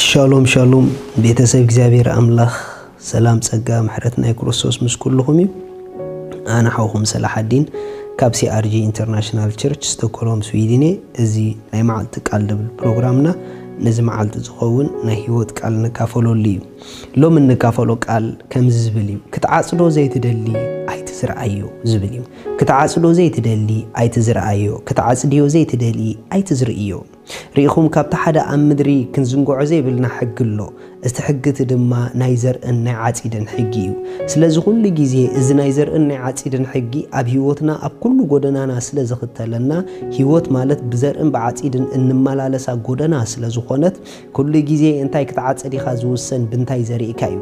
ሻሎም ሻሎም፣ ቤተሰብ እግዚኣብሔር ኣምላኽ፣ ሰላም ጸጋ ምሕረት ናይ ክርስቶስ ምስ ኩልኹም እዩ። ኣነ ሓውኹም ሰላሓዲን ካብ CRG International Church ስቶኮልሆም ስዊድን እየ። እዚ ናይ መዓልቲ ቃል ድብል ፕሮግራምና ነዚ መዓልቲ ዝኸውን ናይ ህይወት ቃል ንካፈለሉ እዩ። ሎም እንካፈሎ ቃል ከምዚ ዝብል እዩ። ክትዓጽዶ ዘይትደሊ ኣይትዝርኣዮ ዝብል እዩ። ክትዓጽዶ ዘይትደሊ ኣይትዝርኣዮ፣ ክትዓጽድዮ ዘይትደሊ ኣይትዝርእዮ። ርኢኹም ካብቲ ሓደ ኣብ ምድሪ ክንዝንግዖ ዘይብልና ሕጊ ኣሎ። እቲ ሕጊ እቲ ድማ ናይ ዘርእን ናይ ዓጺድን ሕጊ እዩ። ስለዚ ኩሉ ግዜ እዚ ናይ ዘርእን ናይ ዓጺድን ሕጊ ኣብ ህይወትና ኣብ ኩሉ ጎደናና ስለ ዝኽተለና፣ ህይወት ማለት ብዘርእን ብዓጺድን እንመላለሳ ጎደና ስለ ዝኾነት፣ ኩሉ ግዜ እንታይ ክትዓጽድ ኢኻ ዝውሰን ብምንታይ ዘሪእካ እዩ።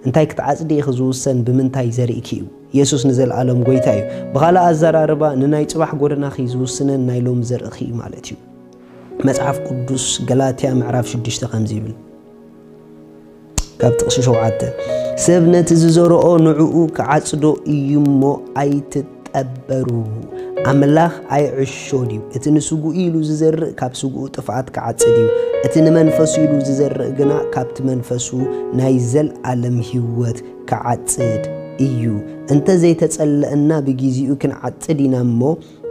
እንታይ ክትዓጽድ ኢኺ ዝውሰን ብምንታይ ዘሪእኪ እዩ። የሱስ ንዘለኣለም ጎይታ እዩ። ብኻልእ ኣዘራርባ ንናይ ጽባሕ ጎደናኺ ዝውስነን ናይ ሎም ዘርእኺ እዩ ማለት እዩ። መጽሓፍ ቅዱስ ገላትያ ምዕራፍ ሽዱሽተ ከምዚ ይብል፣ ካብ ጥቕሲ ሸውዓተ፣ ሰብ ነቲ ዝዘርኦ ንዕኡ ክዓጽዶ እዩ እሞ ኣይትጠበሩ። ኣምላኽ ኣይዕሾን እዩ። እቲ ንስጉኡ ኢሉ ዝዘርእ ካብ ስጉኡ ጥፍኣት ክዓጽድ እዩ። እቲ ንመንፈሱ ኢሉ ዝዘርእ ግና ካብቲ መንፈሱ ናይ ዘልኣለም ህይወት ክዓጽድ እዩ። እንተ ዘይተጸለእና ብጊዜኡ ክንዓጽድ ኢና እሞ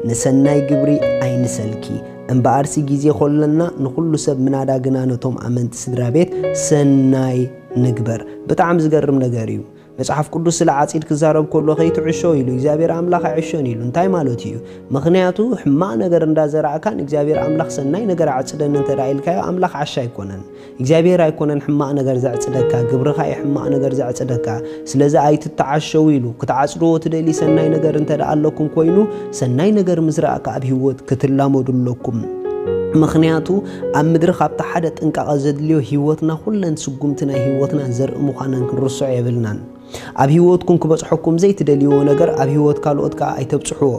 ንሰናይ ግብሪ ኣይንሰልኪ። እምበኣርሲ ግዜ ኾለና ንኹሉ ሰብ ምናዳ ግና ነቶም ኣመንቲ ስድራ ቤት ሰናይ ንግበር። ብጣዕሚ ዝገርም ነገር እዩ። መጽሓፍ ቅዱስ ስለ ዓጺድ ክዛረብ ከሎ ከይትዕሾ ኢሉ እግዚኣብሔር ኣምላኽ ኣይዕሾን ኢሉ። እንታይ ማለት እዩ? ምኽንያቱ ሕማቕ ነገር እንዳዘራእካ ንእግዚኣብሔር ኣምላኽ ሰናይ ነገር ኣዕጽደኒ እንተ ደኣ ኢልካዮ ኣምላኽ ዓሻ ኣይኮነን። እግዚኣብሔር ኣይኮነን ሕማቕ ነገር ዘዕጽደካ፣ ግብርኻ እዩ ሕማቕ ነገር ዘዕጽደካ። ስለዚ ኣይትተዓሸው ኢሉ። ክትዓጽድዎ ትደሊ ሰናይ ነገር እንተ ደኣ ኣለኩም ኮይኑ፣ ሰናይ ነገር ምዝራእካ ኣብ ህይወት ክትላመዱ ኣለኩም። ምኽንያቱ ኣብ ምድሪ ካብቲ ሓደ ጥንቃቐ ዘድልዮ ህይወትና ኩለን ስጉምቲ ናይ ህይወትና ዘርኢ ምዃነን ክንርስዖ የብልናን። ኣብ ህይወትኩም ክበጽሐኩም ዘይትደልይዎ ነገር ኣብ ህይወት ካልኦት ከኣ ኣይተብጽሕዎ።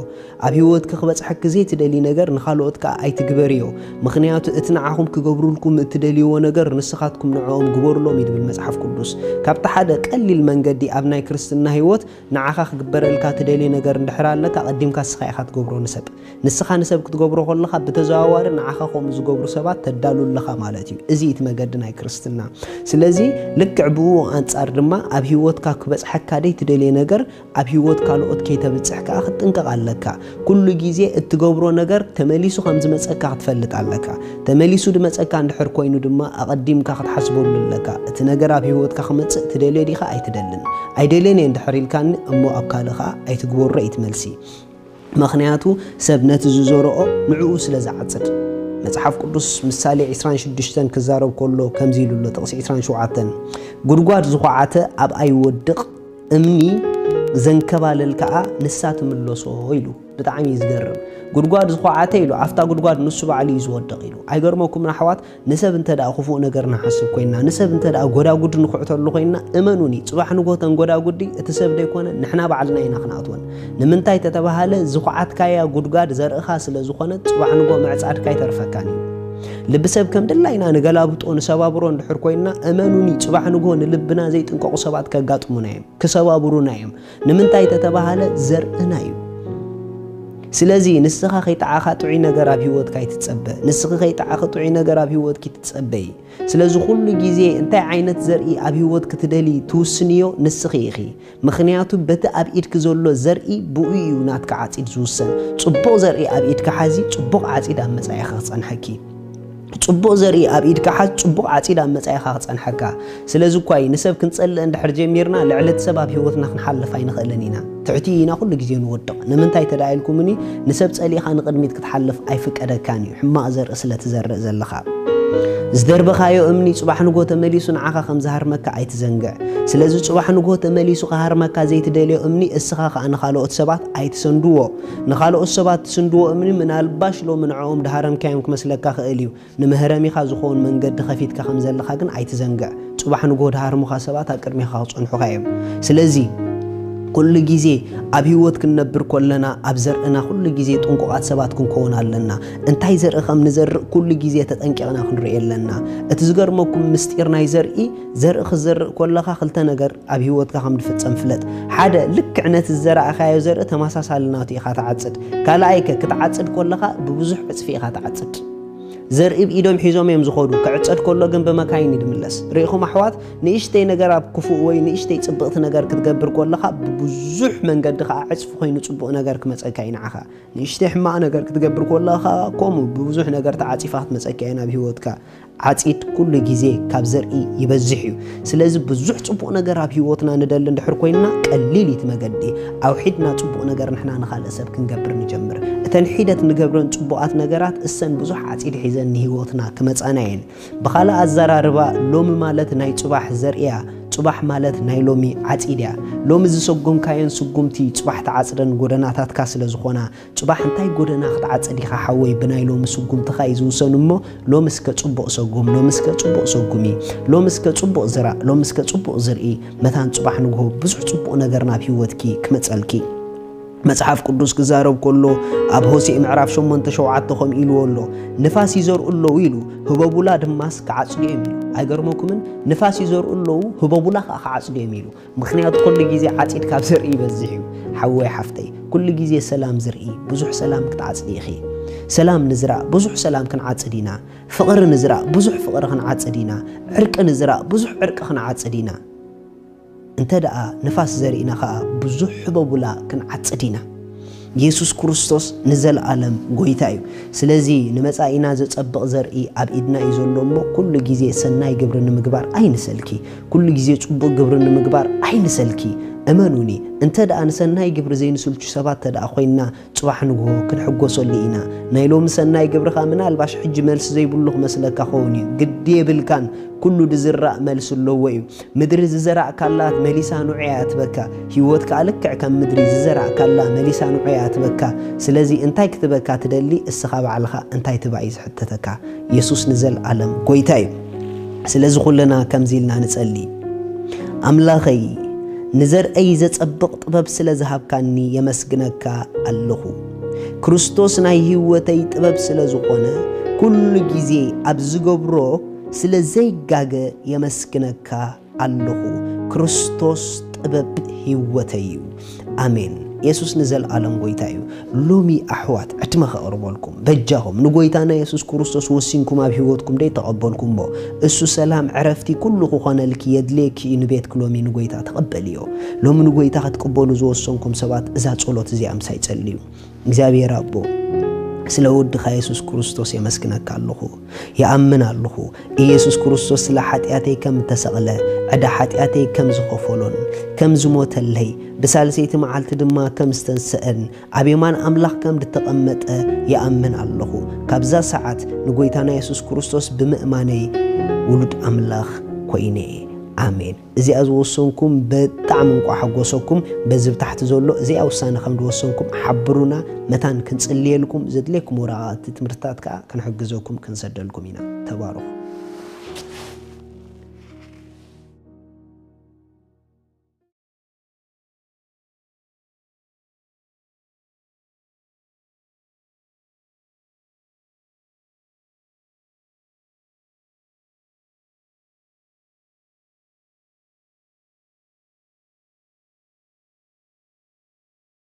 ኣብ ህይወትኪ ክበጽሐኪ ዘይትደልዪ ነገር ንኻልኦት ከኣ ኣይትግበርዮ። ምኽንያቱ እቲ ንዓኹም ክገብሩልኩም እትደልይዎ ነገር ንስኻትኩም ንዕኦም ግበሩሎም እዩ ዝብል መጽሓፍ ቅዱስ። ካብቲ ሓደ ቀሊል መንገዲ ኣብ ናይ ክርስትና ህይወት ንዓኻ ክግበረልካ ትደልዮ ነገር እንድሕር ኣለካ፣ ኣቐዲምካ ንስኻ ኢኻ ትገብሮ ንሰብ። ንስኻ ንሰብ ክትገብሮ ከለኻ ብተዘዋዋሪ ንዓኻ ከምኡ ዝገብሩ ሰባት ተዳሉ ኣለኻ ማለት እዩ። እዚ እቲ መገዲ ናይ ክርስትና። ስለዚ ልክዕ ብኡ ኣንጻር ድማ ኣብ ህይወትካ ክበጽሐካ ደይ ትደልየ ነገር ኣብ ህይወት ካልኦት ከይተብጽሕ ከኣ ክትጥንቀቕ ኣለካ። ኩሉ ግዜ እትገብሮ ነገር ተመሊሱ ከም ዝመጸካ ክትፈልጥ ኣለካ። ተመሊሱ ድመጸካ እንድሕር ኮይኑ ድማ ኣቐዲምካ ክትሓስበሉ ኣለካ። እቲ ነገር ኣብ ህይወትካ ክመጽእ ትደልዮ ዲኻ ኣይትደልን? ኣይደልዮን እየ እንድሕር ኢልካኒ እሞ ኣብ ካልእ ከኣ ኣይትግበሮ እዩ እቲ መልሲ። ምኽንያቱ ሰብ ነቲ ዝዘርኦ ንዕኡ ስለ ዝዓጽድ። መጽሓፍ ቅዱስ ምሳሌ ዕስራን ሽዱሽተን ክዛረብ ከሎ ከምዚ ኢሉ ኣሎ፣ ጥቕሲ ዕስራን ሸውዓተን፣ "ጉድጓድ ዝኹዓተ ኣብኣ ይወድቕ፣ እምኒ ዘንከባልል ከኣ ንሳ ትምለሶ" ኢሉ። ብጣዕሚ እዩ ዝገርም። ጉድጓድ ዝኹዓተ ኢሉ፣ ኣብታ ጉድጓድ ንሱ ባዕሉ እዩ ዝወድቕ ኢሉ። ኣይገርመኩምን ኣሕዋት? ንሰብ እንተ ደኣ ክፉእ ነገር ንሓስብ ኮይንና፣ ንሰብ እንተ ደኣ ጎዳጉዲ ንኹዕተሉ ኮይንና፣ እመኑኒ፣ ጽባሕ ንግሆ ተን ጎዳጉዲ እቲ ሰብ ደይኮነ ንሕና ባዕልና ኢና ክንኣትወን። ንምንታይ ተተባሃለ፣ ዝኹዓትካያ ጉድጓድ ዘርእኻ ስለ ዝኾነት፣ ጽባሕ ንግሆ ምዕጻድካ ኣይተርፈካን እዩ። ልቢ ሰብ ከም ድላይና ንገላብጦ፣ ንሰባብሮ እንድሕር ኮይንና፣ እመኑኒ፣ ጽባሕ ንግሆ ንልብና ዘይጥንቀቑ ሰባት ከጋጥሙና እዮም፣ ክሰባብሩና እዮም። ንምንታይ ተተባሃለ፣ ዘርእና እዩ። ስለዚ ንስኻ ከይጠዓኻ ጥዑይ ነገር ኣብ ህይወትካ ኣይትጸበ። ንስኺ ከይጠዓኺ ጥዑይ ነገር ኣብ ህይወትኪ ትጸበዪ። ስለዚ ኩሉ ግዜ እንታይ ዓይነት ዘርኢ ኣብ ህይወት ክትደሊ ትውስንዮ ንስኺ ኢኺ። ምኽንያቱ በቲ ኣብ ኢድኪ ዘሎ ዘርኢ ብኡ እዩ ናትካ ዓጺድ ዝውሰን። ጽቡቕ ዘርኢ ኣብ ኢድካ ሓዚ፣ ጽቡቕ ዓጺድ ኣብ መጻኢኻ ክጸንሐኪ። ጽቡቕ ዘርኢ ኣብ ኢድካ ሓዝ፣ ጽቡቕ ዓጺድ ኣብ መጻኢኻ ክጸንሐካ። ስለዚ እኳ እዩ ንሰብ ክንጸልእ እንድሕር ጀሚርና፣ ልዕሊ እቲ ሰብ ኣብ ህይወትና ክንሓልፍ ኣይንኽእልን ኢና። ትሕቲ ኢና ኩሉ ግዜ ንወድቕ። ንምንታይ ተደኣ ኢልኩምኒ፣ ንሰብ ጸሊእኻ ንቕድሚት ክትሓልፍ ኣይፍቀደካን እዩ፣ ሕማቕ ዘርኢ ስለ ትዘርእ ዘለኻ። ዝደርበኻዮ እምኒ ጽባሕ ንግሆ ተመሊሱ ንዓኻ ከም ዝሃርመካ ኣይትዘንግዕ። ስለዚ ጽባሕ ንግሆ ተመሊሱ ክሃርመካ ዘይትደልዮ እምኒ፣ እስኻ ኸኣ ንኻልኦት ሰባት ኣይትሰንድዎ። ንኻልኦት ሰባት ትስንድዎ እምኒ ምናልባሽ ሎሚ ንዕኦም ድሃረምካዮም ክመስለካ ኽእል እዩ። ንመህረሚኻ ዝኸውን መንገዲ ኸፊትካ ከም ዘለኻ ግን ኣይትዘንግዕ። ጽባሕ ንግሆ ድሃርሙኻ ሰባት ኣብ ቅድሜኻ ክጸንሑኻ እዮም። ስለዚ ኩሉ ግዜ ኣብ ህይወት ክንነብር ከለና ኣብ ዘርእና ኩሉ ግዜ ጥንቁቓት ሰባት ክንከውን ኣለና። እንታይ ዘርኢ ከም ንዘርእ ኩሉ ግዜ ተጠንቂቕና ክንርኢ ኣለና። እቲ ዝገርመኩም ምስጢር ናይ ዘርኢ፣ ዘርኢ ክትዘርእ ከለኻ ክልተ ነገር ኣብ ህይወትካ ከም ዝፍጸም ፍለጥ። ሓደ፣ ልክዕ ነቲ ዝዘራእካዮ ዘርኢ ተመሳሳሊ ናቱ ኢኻ ትዓጽድ። ካልኣይከ፣ ክትዓጽድ ከለኻ ብብዙሕ ዕጽፊ ኢኻ ትዓጽድ። ዘርኢ ብኢዶም ሒዞም እዮም ዝኸዱ። ክዕጸድ ከሎ ግን ብመካይን እዩ ዝምለስ። ርኢኹም ኣሕዋት፣ ንእሽተይ ነገር ኣብ ክፉእ ወይ ንእሽተይ ጽብቕቲ ነገር ክትገብር ከለኻ ብብዙሕ መንገዲ ኸዓ ዕጽፊ ኮይኑ ጽቡቕ ነገር ክመጸካ እዩ ንዓኻ። ንእሽተይ ሕማቕ ነገር ክትገብር ከለኻ ከምኡ ብብዙሕ ነገር ተዓጺፋ ክትመጸካ እያ ናብ ህይወትካ። ዓጺድ ኩሉ ግዜ ካብ ዘርኢ ይበዝሕ እዩ። ስለዚ ብዙሕ ጽቡቕ ነገር ኣብ ህይወትና ንደሊ እንድሕር ኮይንና ቀሊል እዩ እቲ መገዲ። ኣውሒድና ጽቡቕ ነገር ንሕና ንኻልእ ሰብ ክንገብር ንጀምር። እተን ሒደት ንገብረን ጽቡቓት ነገራት እሰን ብዙሕ ዓጺድ ሒዘን ንህይወትና ክመጻና እየን። ብኻልእ ኣዘራርባ ሎሚ ማለት ናይ ጽባሕ ዘርእያ፣ ጽባሕ ማለት ናይ ሎሚ ዓጺድ እያ። ሎሚ ዝሰጎምካየን ስጉምቲ ጽባሕ ትዓጽደን ጎደናታትካ ስለ ዝኾና ጽባሕ እንታይ ጎደና ክትዓጽድ ኢኻ ሓወይ? ብናይ ሎሚ ስጉምትኻ እዩ ዝውሰን እሞ፣ ሎሚ እስከ ጽቡቕ ሰጉም፣ ሎሚ እስከ ጽቡቕ ሰጉሚ፣ ሎሚ እስከ ጽቡቕ ዝራእ፣ ሎሚ እስከ ጽቡቕ ዝርኢ። መታን ጽባሕ ንግሆ ብዙሕ ጽቡቕ ነገር ናብ ህይወትኪ ክመጸልኪ። መጽሓፍ ቅዱስ ክዛረብ ከሎ ኣብ ሆሴዕ ምዕራፍ ሸሞንተ ሸውዓተ ከምኡ ኢልዎ ኣሎ፣ "ንፋስ ይዘርኡ ኣለዉ" ኢሉ፣ "ህበቡላ ድማስ ክዓጽዱ እዮም" ኢሉ። ኣይገርመኩምን? ንፋስ ይዘርኡ ኣለዉ፣ ህበቡላ ከኣ ክዓጽዱ እዮም ኢሉ። ምኽንያቱ ኩሉ ግዜ ዓጺድ ካብ ዘርኢ ይበዝሕ እዩ። ሓወይ ሓፍተይ፣ ኩሉ ግዜ ሰላም ዝርኢ ብዙሕ ሰላም ክትዓጽዲ ኢኺ። ሰላም ንዝራእ ብዙሕ ሰላም ክንዓጽድ ኢና። ፍቕሪ ንዝራእ ብዙሕ ፍቕሪ ክንዓጽድ ኢና። ዕርቂ ንዝራእ ብዙሕ ዕርቂ ክንዓጽድ ኢና። እንተ ደኣ ንፋስ ዘሪእና ኸኣ ብዙሕ ህበቡላ ክንዓጽድ ኢና። የሱስ ክርስቶስ ንዘለኣለም ጐይታ እዩ። ስለዚ ንመጻኢና ዘጸብቕ ዘርኢ ኣብ ኢድና እዩ ዘሎ እሞ፣ ኩሉ ግዜ ሰናይ ግብሪ ንምግባር ኣይንሰልኪ። ኩሉ ግዜ ጽቡቕ ግብሪ ንምግባር ኣይንሰልኪ። እመኑኒ፣ እንተ ደኣ ንሰናይ ግብሪ ዘይንስልቹ ሰባት እንተ ደኣ ኮይንና፣ ጽባሕ ንግሆ ክንሕጎሰሉ ኢና። ናይ ሎሚ ሰናይ ግብርኻ ምናልባሽ ሕጂ መልሲ ዘይብሉ ክመስለካ ኸውን እዩ። ግዲ የብልካን፣ ኩሉ ድዝራእ መልሲ ኣለዎ እዩ። ምድሪ ዝዘራእካላ መሊሳ ንዑ እያ ትበካ። ህይወት ከኣ ልክዕ ከም ምድሪ ዝዘራእካላ መሊሳ ንዑ እያ ትበካ። ስለዚ እንታይ ክትበካ ትደሊ? እስኻ ባዕልኻ እንታይ ትባ እዩ ዝሕተተካ። የሱስ ንዘለኣለም ጐይታ እዩ። ስለዚ ኩልና ከምዚ ኢልና ንጸሊ። ኣምላኸይ፣ ንዘርእይ ዘጸብቕ ጥበብ ስለ ዝሃብካኒ የመስግነካ ኣለኹ። ክርስቶስ ናይ ህይወተይ ጥበብ ስለ ዝኾነ፣ ኩሉ ግዜ ኣብ ዝገብሮ ስለ ዘይጋገ የመስግነካ ኣለኹ። ክርስቶስ ጥበብ ህይወተይ እዩ። ኣሜን። የሱስ ንዘለኣለም ጐይታ እዩ። ሎሚ ኣሕዋት፣ ዕድመ ከቕርበልኩም በጃኹም ንጐይታና የሱስ ክርስቶስ ወሲንኩም ኣብ ህይወትኩም ደይ ተቐበልኩምዎ? እሱ ሰላም፣ ዕረፍቲ፣ ኩሉ ክኾነልኪ የድልየኪ እዩ። ንቤትኪ ሎሚ ንጐይታ ተቐበልዮ። ሎሚ ንጐይታ ክትቅበሉ ዝወሰንኩም ሰባት፣ እዛ ጸሎት እዚኣ ምሳይ ጸልዩ። እግዚኣብሔር ኣቦ፣ ስለ ወድኻ የሱስ ክርስቶስ የመስግነካ ኣለኹ። ይኣምን ኣለኹ፣ ኢየሱስ ክርስቶስ ስለ ሓጢኣተይ ከም እተሰቕለ፣ ዕዳ ሓጢኣተይ ከም ዝኸፈሎን ከም ዝሞተለይ፣ ብሳልሰይቲ መዓልቲ ድማ ከም ዝተንስአን፣ ኣብ የማን ኣምላኽ ከም ዝተቐመጠ ይኣምን ኣለኹ። ካብዛ ሰዓት ንጐይታና የሱስ ክርስቶስ ብምእማነይ ውሉድ ኣምላኽ ኮይነ። ኣሜን። እዚኣ ዝወሰንኩም ብጣዕሚ እንቋዕ ሓጎሰኩም። በዚ ብታሕቲ ዘሎ እዚኣ ውሳነ ከም ዝወሰንኩም ሓብሩና። መታን ክንጽልየልኩም፣ ዘድልየኩም ወረቓቕቲ ትምህርትታት ከኣ ክንሕግዘኩም ክንሰደልኩም ኢና። ተባረኹ።